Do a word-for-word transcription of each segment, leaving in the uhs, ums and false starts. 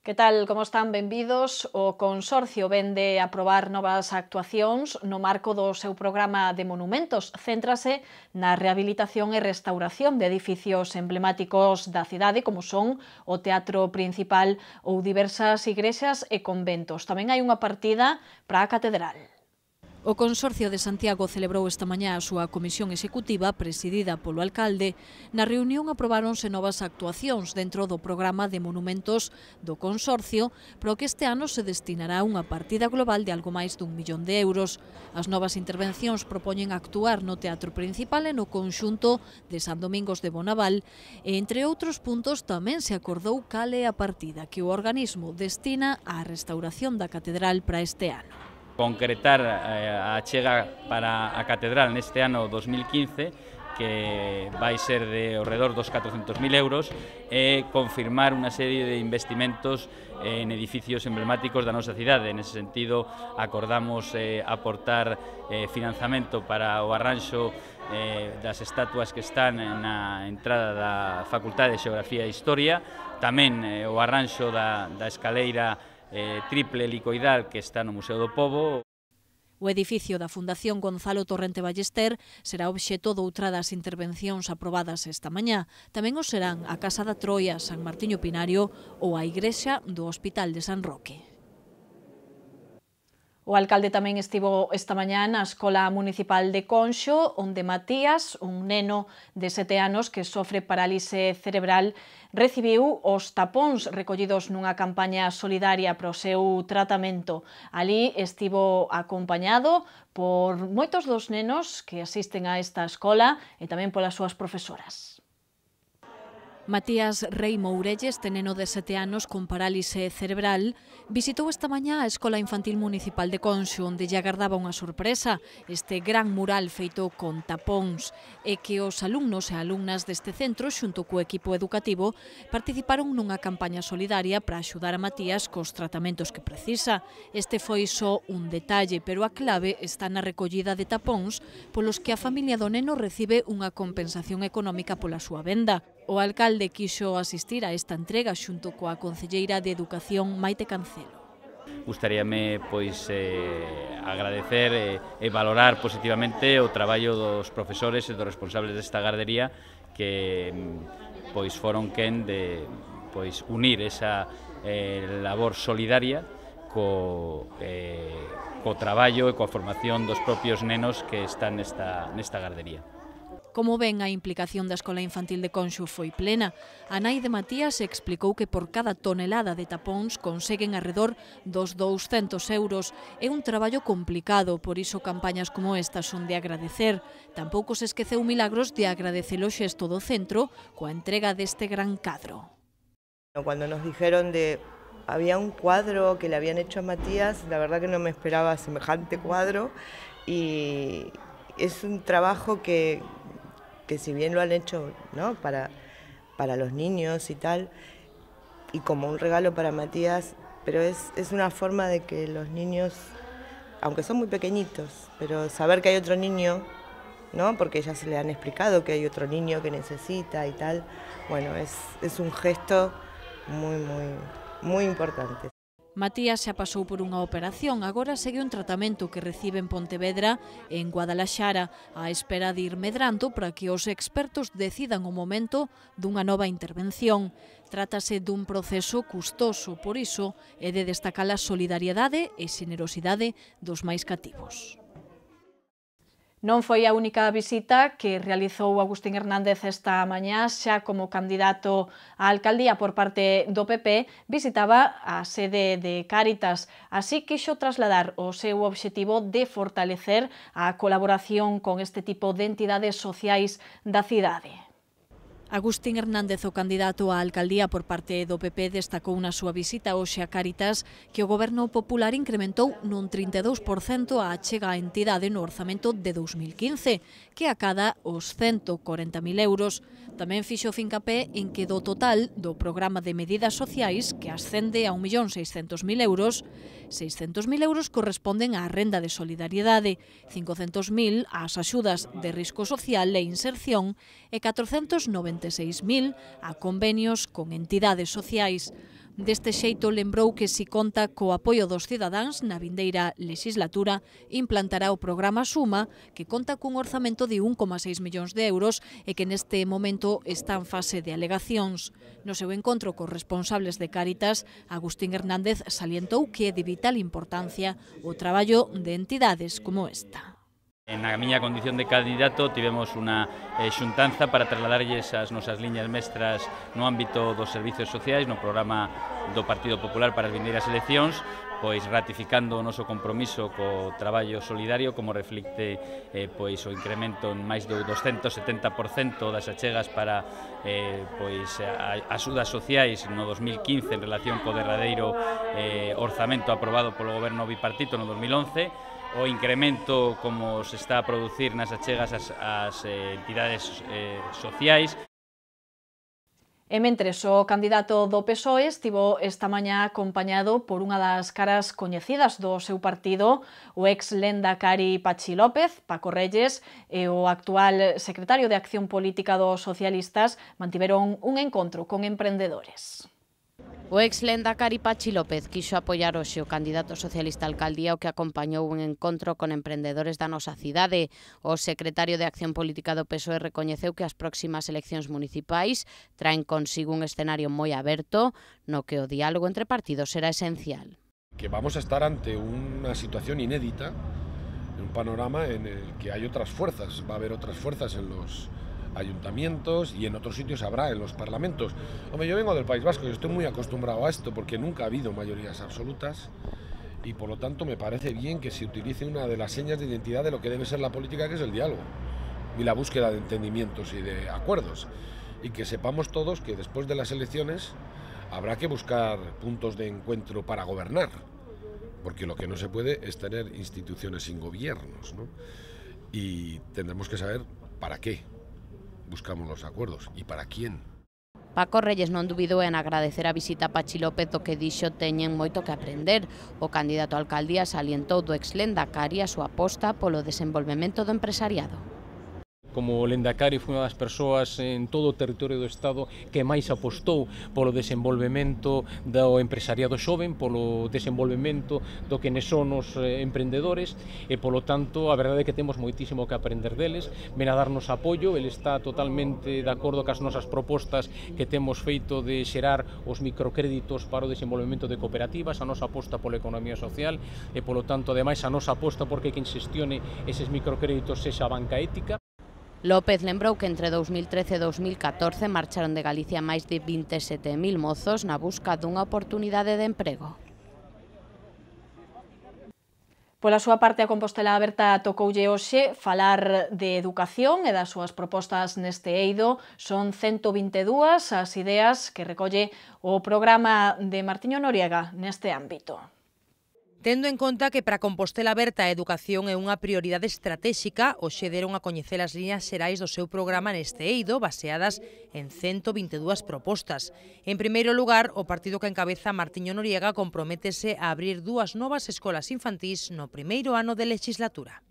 Que tal, como están? Benvidos. O Consorcio vende aprobar novas actuacións no marco do seu programa de monumentos. Céntrase na rehabilitación e restauración de edificios emblemáticos da cidade, como son o Teatro Principal ou diversas igrexas e conventos. Tamén hai unha partida para a Catedral. O Consorcio de Santiago celebrou esta mañá a súa comisión executiva presidida polo alcalde. Na reunión aprobáronse novas actuacións dentro do programa de monumentos do Consorcio, pro que este ano se destinará unha partida global de algo máis dun millón de euros. As novas intervencións propoñen actuar no Teatro Principal e no conxunto de San Domingos de Bonaval e, entre outros puntos, tamén se acordou cal é a partida que o organismo destina á restauración da Catedral para este ano. Concretar a achega para a Catedral neste ano dos mil quince, que vai ser de ao redor dos catrocentos mil euros, e confirmar unha serie de investimentos en edificios emblemáticos da nosa cidade. Nese sentido, acordamos eh, aportar eh, financiamento para o arranxo eh, das estatuas que están na entrada da Facultade de Xeografía e Historia, tamén eh, o arranxo da, da escaleira Eh, triple helicoidal que está no Museo do Pobo. O edificio da Fundación Gonzalo Torrente Ballester será obxeto doutra das intervencións aprobadas esta mañá. Tamén o serán a Casa da Troia, San Martiño Pinario ou a Igrexa do Hospital de San Roque. O alcalde tamén estivo esta mañá na Escola Municipal de Conxo, onde Matías, un neno de sete anos que sofre parálise cerebral, recibiu os tapóns recollidos nunha campaña solidaria para o seu tratamento. Alí estivo acompañado por moitos dos nenos que asisten a esta escola e tamén polas súas profesoras. Matías Rei Mourelles, este neno de sete anos con parálise cerebral, visitou esta mañá a Escola Infantil Municipal de Conxo, onde lle agardaba unha sorpresa, este gran mural feito con tapóns, e que os alumnos e alumnas deste centro, xunto co equipo educativo, participaron nunha campaña solidaria para axudar a Matías cos tratamentos que precisa. Este foi só un detalle, pero a clave está na recollida de tapóns polos que a familia do neno recibe unha compensación económica pola súa venda. O alcalde quixo asistir a esta entrega xunto coa concelleira de Educación Maite Cancelo. Gustaríame pois eh, agradecer e, e valorar positivamente o traballo dos profesores e dos responsables desta gardería que pois foron quen de pois unir esa eh, labor solidaria co, eh, co traballo e coa formación dos propios nenos que están nesta, nesta gardería. Como ven, a implicación da Escola Infantil de Conxo foi plena. A nai de Matías explicou que por cada tonelada de tapóns conseguen arredor dos douscentos euros. É un traballo complicado, por iso campañas como esta son de agradecer. Tampouco se esqueceu Milagros de agradecer o xesto do centro coa entrega deste gran cadro. Cuando nos dijeron de había un cuadro que le habían hecho a Matías, la verdad que no me esperaba semejante cuadro, y es un trabajo que que si bien lo han hecho, ¿no?, para, para los niños y tal, y como un regalo para Matías, pero es, es una forma de que los niños, aunque son muy pequeñitos, pero saber que hay otro niño, ¿no?, porque ya se le han explicado que hay otro niño que necesita y tal, bueno, es, es un gesto muy, muy, muy importante. Matías xa pasou por unha operación, agora segue un tratamento que recibe en Pontevedra e en Guadalaxara, á espera de ir medrando para que os expertos decidan o momento dunha nova intervención. Trátase dun proceso custoso, por iso é de destacar a solidariedade e xenerosidade dos máis cativos. Non foi a única visita que realizou Agustín Hernández esta mañá, xa como candidato á alcaldía por parte do P P, visitaba a sede de Cáritas. Así quixo trasladar o seu obxectivo de fortalecer a colaboración con este tipo de entidades sociais da cidade. Agustín Hernández, o candidato á alcaldía por parte do P P, destacou na súa visita hoxe a Cáritas que o Goberno Popular incrementou nun trinta e dous por cento a achega á entidade no orzamento de dous mil quince, que acada os cento corenta mil euros. Tamén fixo fincapé en que do total do programa de medidas sociais, que ascende a un millón seiscentos mil euros, seiscentos mil euros corresponden á renda de solidariedade, cincocentos mil ás axudas de risco social e inserción e catrocentos noventa e seis mil a convenios con entidades sociais. Deste xeito lembrou que si conta co apoio dos cidadáns na vindeira legislatura implantará o programa Suma, que conta cun orzamento de un coma seis millóns de euros e que neste momento está en fase de alegacións. No seu encontro cos responsables de Cáritas, Agustín Hernández salientou que é de vital importancia o traballo de entidades como esta. Na miña condición de candidato tivemos unha eh, xuntanza para trasladarlles as nosas liñas mestras no ámbito dos servicios sociais no programa do Partido Popular para as vindeiras eleccións, pois ratificando o noso compromiso co traballo solidario, como reflicte eh, pois o incremento en máis do doscientos setenta por cento das achegas para eh, pois a, axudas sociais no dos mil quince en relación co derradeiro eh, orzamento aprobado polo goberno bipartito no dos mil once, o incremento como se está a producir nas achegas ás, ás eh, entidades eh, sociais. E mentres o candidato do P S O E estivo esta mañá acompañado por unha das caras coñecidas do seu partido, o ex lendakari Patxi López, Paco Reyes, e o actual secretario de Acción Política dos Socialistas mantiveron un encontro con emprendedores. O ex lendakari Patxi López quixo apoiar hoxe o candidato socialista á alcaldía o que acompañou un encontro con emprendedores da nosa cidade. O secretario de Acción Política do P S O E recoñeceu que as próximas eleccións municipais traen consigo un escenario moi aberto no que o diálogo entre partidos será esencial. Que vamos a estar ante unha situación inédita, un panorama en el que hay otras fuerzas, va a haber otras fuerzas en los ayuntamientos y en otros sitios habrá en los parlamentos. Hombre, yo vengo del País Vasco y estoy muy acostumbrado a esto porque nunca ha habido mayorías absolutas y por lo tanto me parece bien que se utilice una de las señas de identidad de lo que debe ser la política, que es el diálogo y la búsqueda de entendimientos y de acuerdos, y que sepamos todos que después de las elecciones habrá que buscar puntos de encuentro para gobernar, porque lo que no se puede es tener instituciones sin gobiernos, ¿no? Y tendremos que saber para qué buscamos los acuerdos e para quién. Paco Reyes non dubidou en agradecer a visita a Patxi López, do que dixo teñen moito que aprender. O candidato á alcaldía salientou do ex lendakari a súa aposta polo desenvolvemento do empresariado. Como lendakari foi unha das persoas en todo o territorio do Estado que máis apostou polo desenvolvemento do empresariado xoven, polo desenvolvemento do que son os emprendedores e, polo tanto, a verdade é que temos moitísimo que aprender deles. Ven a darnos apoio, ele está totalmente de acordo cas nosas propostas que temos feito de xerar os microcréditos para o desenvolvemento de cooperativas, a nosa aposta pola economía social e, polo tanto, ademais, a nosa aposta porque quen xestione eses microcréditos sexa a banca ética. López lembrou que entre dous mil trece e dous mil catorce marcharon de Galicia máis de vinte e sete mil mozos na busca dunha oportunidade de emprego. Pola súa parte, a Compostela Aberta tocoulle hoxe falar de educación e das súas propostas neste eido. Son ciento vinte e dúas as ideas que recolle o programa de Martiño Noriega neste ámbito. Tendo en conta que para Compostela Aberta a educación é unha prioridade estratéxica, hoxe deron a coñecer as liñas xerais do seu programa neste eido, baseadas en ciento vinte e dúas propostas. En primeiro lugar, o partido que encabeza Martiño Noriega comprométese a abrir dúas novas escolas infantís no primeiro ano de legislatura.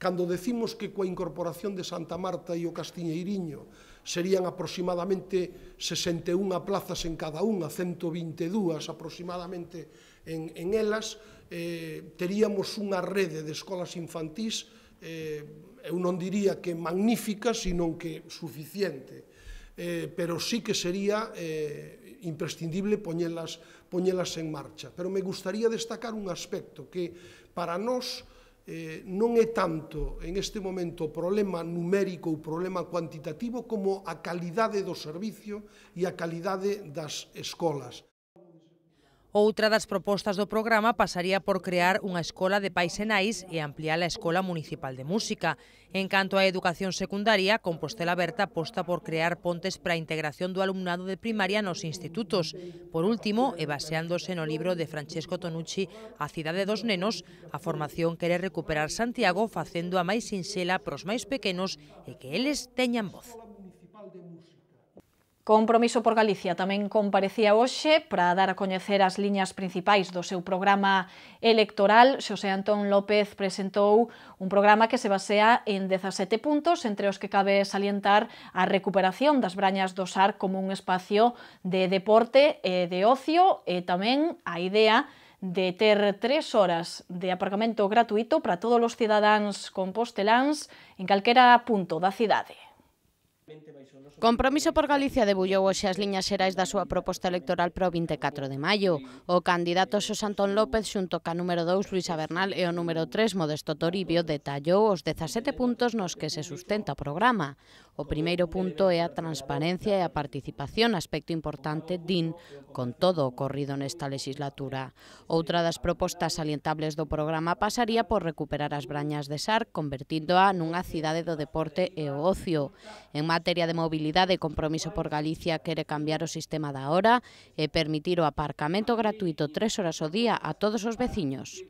Cando decimos que coa incorporación de Santa Marta e o Castiñeiriño serían aproximadamente sesenta e unha plazas en cada unha, ciento vinte e dúas aproximadamente en, en elas, eh, teríamos unha rede de escolas infantís, eh, eu non diría que magnífica, sino que suficiente, eh, pero sí que sería eh, imprescindible poñelas, poñelas en marcha. Pero me gustaría destacar un aspecto que para nós eh, non é tanto en este momento o problema numérico ou problema cuantitativo como a calidade do servicio e a calidade das escolas. Outra das propostas do programa pasaría por crear unha escola de pais e nais e ampliar a Escola Municipal de Música. En canto á educación secundaria, Compostela Aberta aposta por crear pontes para a integración do alumnado de primaria nos institutos. Por último, e baseándose no libro de Francesco Tonucci, A cidade dos nenos, a formación quere recuperar Santiago facendo a máis sinxela pros máis pequenos e que eles teñan voz. Compromiso por Galicia tamén comparecía hoxe para dar a coñecer as liñas principais do seu programa electoral. Xosé Antón López presentou un programa que se basea en dezasete puntos, entre os que cabe salientar a recuperación das Brañas do Sar como un espacio de deporte e de ocio e tamén a idea de ter tres horas de aparcamento gratuito para todos os cidadáns composteláns en calquera punto da cidade. Compromiso por Galicia debullou hoxe as liñas xerais da súa proposta electoral para o vinte e catro de maio. O candidato Xosé Antón López xunto ca número dous Luisa Bernal e o número tres Modesto Toribio detallou os dezasete puntos nos que se sustenta o programa. O primeiro punto é a transparencia e a participación, aspecto importante, din, con todo o ocorrido nesta legislatura. Outra das propostas salientables do programa pasaría por recuperar as Brañas de Sar, convertíndoa nunha cidade do deporte e o ocio. En materia de mobilidade, Compromiso por Galicia quere cambiar o sistema da hora e permitir o aparcamento gratuito tres horas ao día a todos os veciños.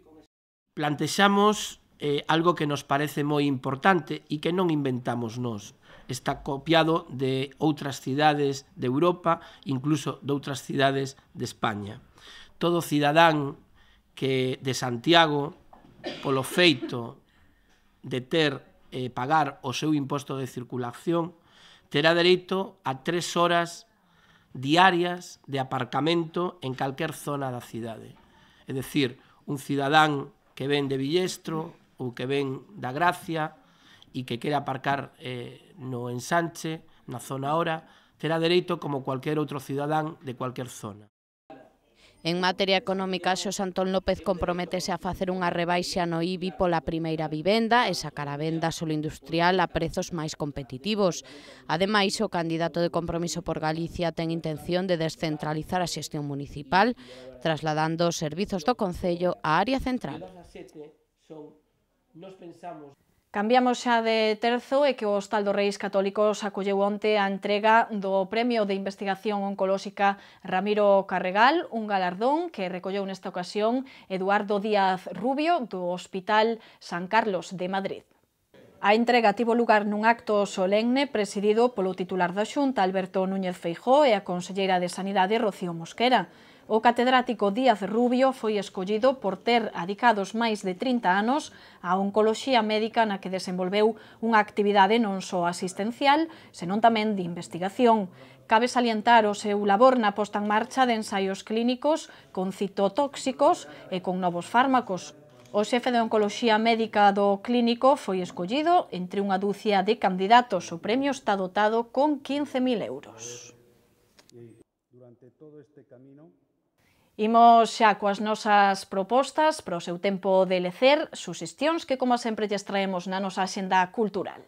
Plantexamos eh, algo que nos parece moi importante e que non inventamos nós. Está copiado de outras cidades de Europa, incluso de outras cidades de España. Todo cidadán que de Santiago, polo feito de ter eh, pagar o seu imposto de circulación, terá dereito a tres horas diarias de aparcamento en calquer zona da cidade. É dicir, un cidadán que ven de Villestro ou que ven da Gracia e que quere aparcar eh, no ensanche, na zona hora, terá dereito como cualquier outro cidadán de cualquier zona. En materia económica, Xosé Antón López comprométese a facer unha rebaixa no I B I pola primeira vivenda e sacar a venda solo industrial a prezos máis competitivos. Ademais, o candidato de Compromiso por Galicia ten intención de descentralizar a xestión municipal, trasladando os servizos do Concello á área central. Cambiamos xa de terzo e que o Hostal dos Reis Católicos acolleu onte a entrega do Premio de Investigación Oncolóxica Ramiro Carregal, un galardón que recolleu nesta ocasión Eduardo Díaz Rubio do Hospital San Carlos de Madrid. A entrega tivo lugar nun acto solemne presidido polo titular da Xunta, Alberto Núñez Feijóo, e a conselleira de Sanidade, Rocío Mosquera. O catedrático Díaz Rubio foi escollido por ter adicados máis de trinta anos á oncoloxía médica na que desenvolveu unha actividade non só asistencial, senón tamén de investigación. Cabe salientar o seu labor na posta en marcha de ensaios clínicos con citotóxicos e con novos fármacos. O xefe de oncoloxía médica do clínico foi escollido entre unha dúcia de candidatos. O premio está dotado con quince mil euros. Durante todo este camino imos xa coas nosas propostas para o seu tempo de lecer, suxestións que, como sempre, lles traemos na nosa axenda cultural.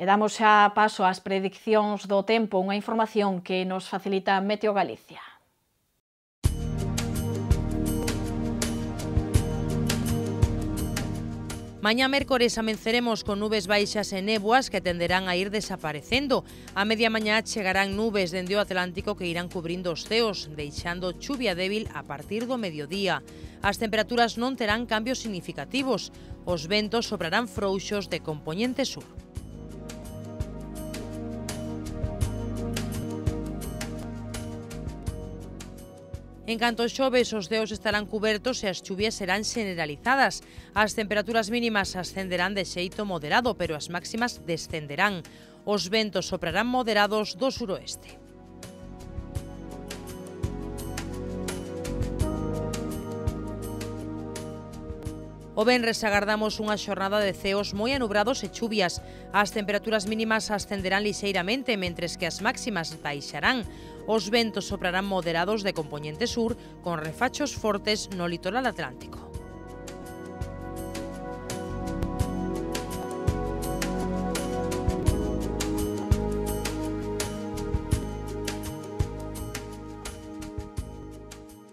E damos xa paso ás prediccións do tempo, unha información que nos facilita Meteo Galicia. Mañá mércores amenceremos con nubes baixas e néboas que tenderán a ir desaparecendo. A media mañá chegarán nubes dende o Atlántico que irán cubrindo os ceos, deixando chuvia débil a partir do mediodía. As temperaturas non terán cambios significativos. Os ventos soprarán frouxos de compoñente sur. En canto xoves, os ceos estarán cubertos e as chuvias serán generalizadas. As temperaturas mínimas ascenderán de xeito moderado, pero as máximas descenderán. Os ventos soprarán moderados do suroeste. O venres agardamos unha xornada de ceos moi anubrados e chuvias. As temperaturas mínimas ascenderán lixeiramente, mentres que as máximas baixarán. Os ventos soprarán moderados de compoñente sur, con refachos fortes no litoral atlántico.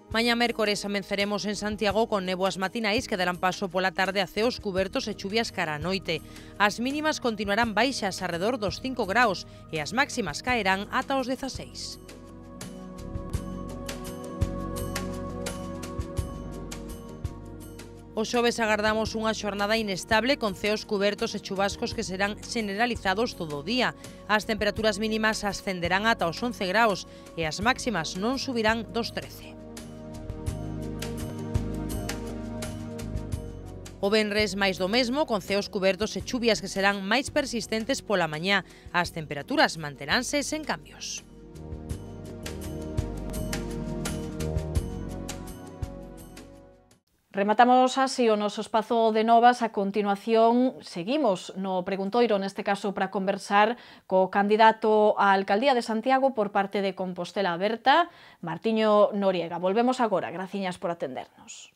Mañá mércores amenceremos en Santiago con néboas matinais que darán paso pola tarde a ceos cubertos e chuvias cara a noite. As mínimas continuarán baixas arredor dos cinco graus e as máximas caerán ata os dezaseis. O xoves agardamos unha xornada inestable con ceos cubertos e chubascos que serán generalizados todo o día. As temperaturas mínimas ascenderán ata os once graus e as máximas non subirán dos trece. O venres máis do mesmo, con ceos cubertos e chuvias que serán máis persistentes pola mañá. As temperaturas manteránse sen cambios. Rematamos así o noso espazo de novas. A continuación, seguimos no preguntoiro, neste caso para conversar co candidato á alcaldía de Santiago por parte de Compostela Aberta, Martiño Noriega. Volvemos agora. Graciñas por atendernos.